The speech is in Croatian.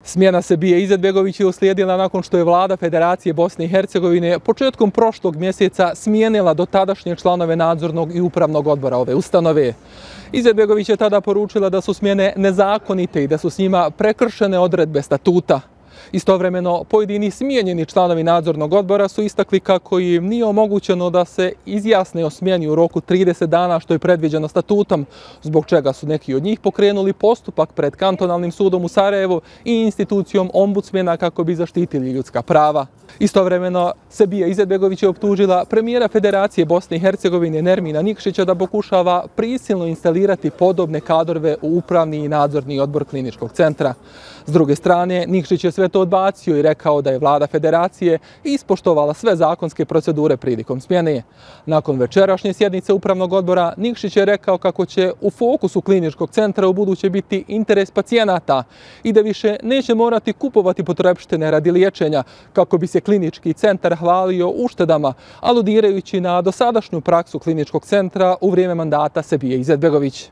Smjena Sebije Izetbegović je uslijedila nakon što je vlada Federacije Bosne i Hercegovine početkom prošlog mjeseca smijenila dotadašnje članove nadzornog i upravnog odbora ove ustanove. Izetbegović je tada poručila da su smjene nezakonite i da su s njima prekršene odredbe statuta. Istovremeno, pojedini smijenjeni članovi nadzornog odbora su istakli kako im nije omogućeno da se izjasne o smjeni u roku 30 dana što je predviđeno statutom, zbog čega su neki od njih pokrenuli postupak pred kantonalnim sudom u Sarajevu i institucijom ombudsmena kako bi zaštitili ljudska prava. Istovremeno, Sebija Izetbegović je optužila premijera Federacije Bosne i Hercegovine Nermina Nikšića da pokušava prisilno instalirati podobne kadrove u upravni i nadzorni odbor kliničkog centra. S druge strane, Nikšić je sve to odbacio i rekao da je vlada Federacije ispoštovala sve zakonske procedure prilikom smjene. Nakon večerašnje sjednice upravnog odbora, Nikšić je rekao kako će u fokusu kliničkog centra u buduće biti interes pacijenata i da više neće morati kupovati potrepštine radi liječenja kako bi se klinički centar hvalio uštedama, aludirajući na dosadašnju praksu kliničkog centra u vrijeme mandata Sebije Izetbegović.